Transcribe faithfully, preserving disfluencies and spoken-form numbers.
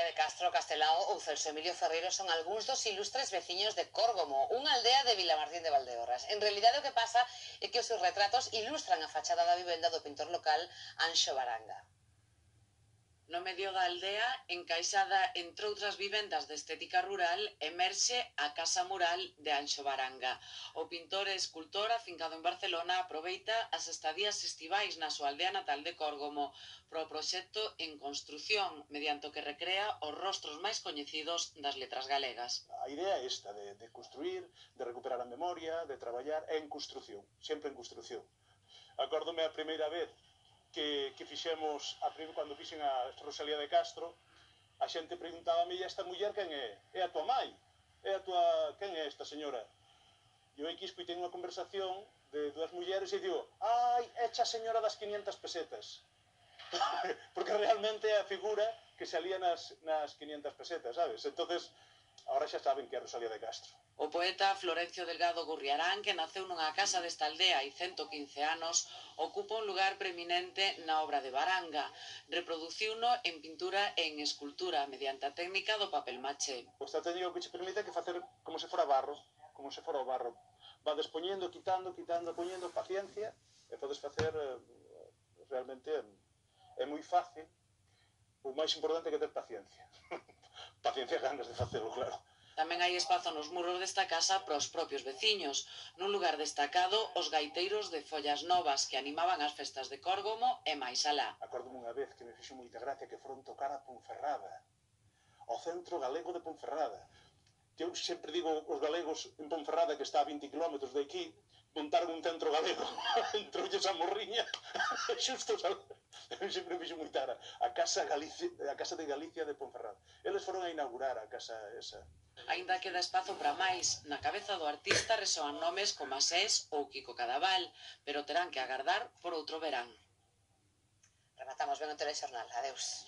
Rosalía de Castro, Castelao ou Celso Emilio Ferreiro son algúns dos ilustres veciños de Córgomo, unha aldea de Vilamartín de Valdeorras. En realidade o que pasa é que os seus retratos ilustran a fachada da vivenda do pintor local Anxo Baranga. No medio da aldea, encaixada entre outras vivendas de estética rural, emerxe a Casa Mural de Anxo Baranga. O pintor e escultor afincado en Barcelona aproveita as estadías estivais na súa aldea natal de Córgomo pro proxecto En Construción, mediante o que recrea os rostros máis coñecidos das letras galegas. A idea é esta, de, de construir, de recuperar a memoria, de traballar en construción, sempre en construción. Acórdome a primeira vez que, que fixemos, a prim, cando fixen a Rosalía de Castro, a xente preguntábame, e esta muller quen é? É a tua mai? É a tua... quen é esta señora? E eu aquí escoitei unha conversación de dúas mulleres e digo, ai, é a señora das quinientas pesetas. Porque realmente é a figura que salía nas, nas quinientas pesetas, sabes? Entonces, ahora xa saben que é Rosalía de Castro. O poeta Florencio Delgado Gurriarán, que naceu nunha casa desta aldea hai cento quince anos, ocupa un lugar preeminente na obra de Baranga. Reproduciuno en pintura e en escultura mediante a técnica do papel maché. O esta técnica que che permite que facer como se fora barro, como se fora o barro. Va despoñendo, quitando, quitando, poñendo, paciencia, e podes facer eh, realmente é moi fácil. O máis importante é que ter paciencia. Paciencia e ganas de facelo, claro. Tamén hai espazo nos muros desta casa para os propios veciños. Nun lugar destacado, os gaiteiros de Follas Novas, que animaban as festas de Córgomo e máis alá. Acórdome unha vez que me fixo moita gracia que foron tocar a Ponferrada, ao centro galego de Ponferrada. Que eu sempre digo os galegos en Ponferrada, que está a vinte kilómetros de aquí, montaron un centro galego. Entroulles a morriña, xusto, eu sempre me fixo moita ara. A Casa, Galicia, a Casa de Galicia de Ponferrada. Eles foron a inaugurar a casa esa. Aínda queda espazo para máis, na cabeza do artista resoan nomes como Asés ou Kiko Cadaval, pero terán que agardar por outro verán. Rematamos ben o telexornal. Adeus.